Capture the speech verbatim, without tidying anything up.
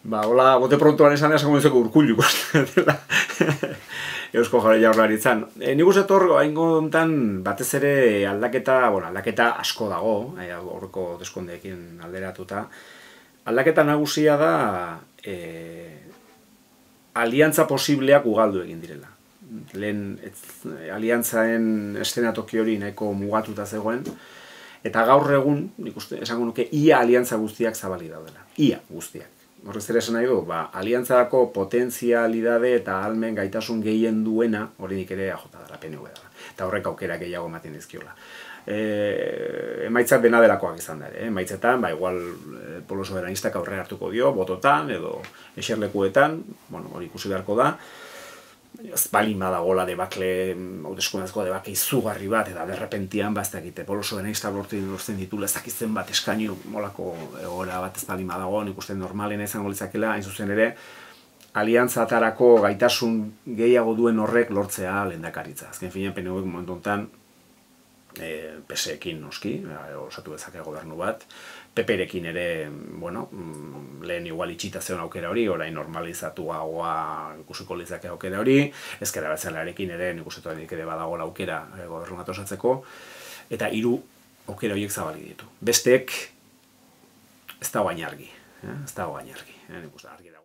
Ba, hola, bote prontoan esan esango dizeko Urkullu dela Eusko Jaurlaritzan. E, nik uste hor, haingo hontan batez ere aldaketa, bueno, aldaketa asko dago, e, horreko deskondeekin alderatuta. Aldaketa nagusia da e, aliantza posibleak ugaldu egin direla. Lehen ez, aliantzaen eszenatoki hori nahiko mugatuta zegoen, eta gaur egun, nik uste, esango nuke, ia aliantza guztiak zabali daudela. Ia guztiak. Horrez ere esan nahi du, ba, aliantzako potentzialidade eta ahalmen gaitasun gehien duena, horinik ere A J dela, P N V dela. Eta horrek aukera gehiago ematen dizkiola. E, emaitzak dena delakoak izan da ere, eh? Emaitzetan, ba, igual e, Polo Soberanistak aurrera hartuko dio, bototan edo eserlekuetan, bueno, hori ikusi beharko da. Ez balin badagola debakle, hauteskundeazko debake izugarri bat, eta derrepentian, ba, ez dakite, Polo Soberanista lortzen ditula, ez dakitzen bat eskainu molako egoera bat ez balin badago, nik uste normalena izango litzakela, hain zuzen ere, aliantzatarako gaitasun gehiago duen horrek lortzea lehendakaritza. Azken finean, P N Vek momentu honetan, e, P S ekin noski, osatu dezake gobernu bat, P P-rekin ere, bueno, lehen igual itxita zeon aukera hori, orain normalizatu gagoa ikusiko litzake aukera hori, ezker abertzalearekin ere, nik uste ere badago aukera gobernu bat osatzeko, eta hiru aukera horiek zabali ditu. Besteek ez dago hain argi, ez dago hain argi, nik uste argi dago.